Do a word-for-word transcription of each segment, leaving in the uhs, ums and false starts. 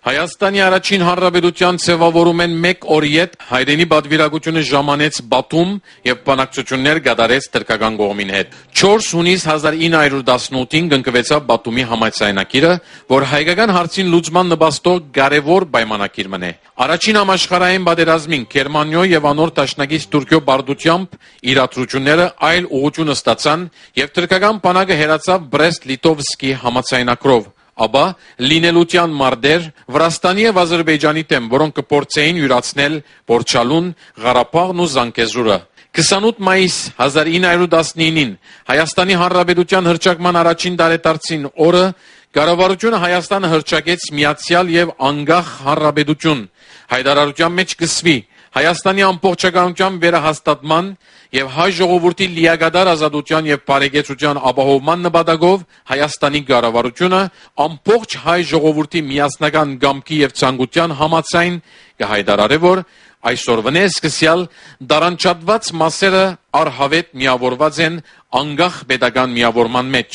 Հայաստանի առաջին հանրապետութեան ձեւաւորումէն մէկ օր յետ հայրենի պատուիրակութիւնը ժամանեց Բաթում եւ բանակցութիւններ կատարեց թրքական կողմին հետ։ Չորս յունիս հազար ինը հարիւր տասնութին կնքուեցաւ Բաթումի համաձայնագիրը, որ հայկական հարցին լուծման նպաստող կարեւոր պայմանագիր մըն է։ Առաջին համաշխարհային պատերազմին Գերմանիոյ եւ անոր դաշնակից Թուրքիոյ պարտությամբ իրադրութիւնները այլ ուղղութիւն ստացան եւ թրքական բանակը հեռացաւ Բրեստ-Լիտովսկի համաձայնագրով, ապա լինելութեան մարտեր Վրաստանի եւ Ադրբեջանի դէմ, որոնք կը փորձէին իւրացնել Պորչալուն, Ղարաբաղն ու Զանգեզուրը։ Քսանութ մայիս հազար ինը հարիւր տասնինին Հայաստանի Հանրապետութեան հռչակման առաջին տարեդարձին օրը կառավարութիւնը Հայաստանը հռչակեց միացեալ եւ անկախ հանրապետութիւն։ Հայտարարութեան մէջ կ'ըսուի. «Հայաստանի ամբողջականութեան վերահաստատման եւ հայ ժողովուրդի լիակատար ազատութեան եւ բարեկեցութեան ապահովման նպատակով Հայաստանի կառավարութիւնը ամբողջ հայ ժողովուրդի միասնական կամքի եւ ցանկութեան համաձայն կը հայտարարէ, որ այսօրվանէ սկսեալ տարանջատուած մասերը առհաւետ միաւորուած են անկախ պետական միաւորման մէջ»։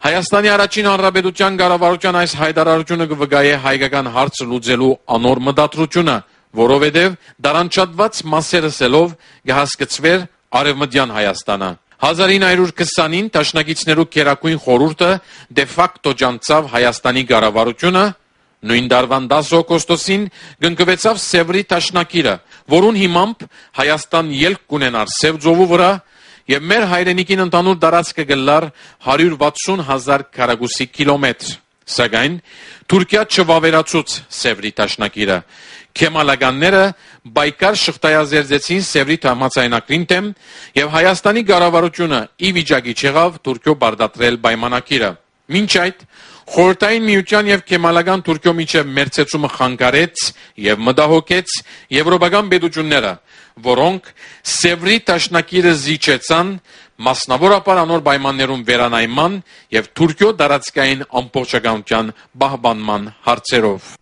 Հայաստանի առաջին հանրապետութեան կառավարութեան այս հայտարարութիւնը կը վկայէ հայկական հարցը լուծելու անոր մտադրութիւնը, որովհետեւ տարանջատուած մասեր ըսելով կը հասկցուէր Արեւմտեան Հայաստանը։ Հազար ինը հարիւր քսանին Դաշնակիցներու Գերագոյն Խորհուրդը դե ֆակտո ճանչցաւ Հայաստանի կառավարութիւնը, նոյն տարուան տասը օգոստոսին կնքուեցաւ Սեւրի դաշնակիրը, որուն հիմամբ Հայաստան ելք կ'ունենար Սեւ ծովու վրայ եւ մեր հայրենիքին ընդհանուր տարածքը կ'ըլլար հարիւր վաթսուն հազար քառակուսի կիլոմեթր։ Սակայն Թուրքիա չվաւերացուց Սեւրի դաշնակիրը։ Քեմալականները պայքար շղթայազերծեցին Սեւրի համաձայնագրին դէմ եւ Հայաստանի կառավարութիւնը ի վիճակի չեղաւ Թուրքիոյ պարտադրել պայմանագիրը։ Մինչ այդ, Խորհրդային Միութեան եւ Քեմալական Թուրքիոյ միջեւ մերձեցումը խանգարեց եւ մտահոգեց եւրոպական պետութիւնները, որոնք Սեւրի դաշնակիրը զիջեցան, մասնաւորաբար անոր պայմաններուն վերանայման եւ Թուրքիոյ տարածքային ամբողջականութեան պահպանման հարցերով։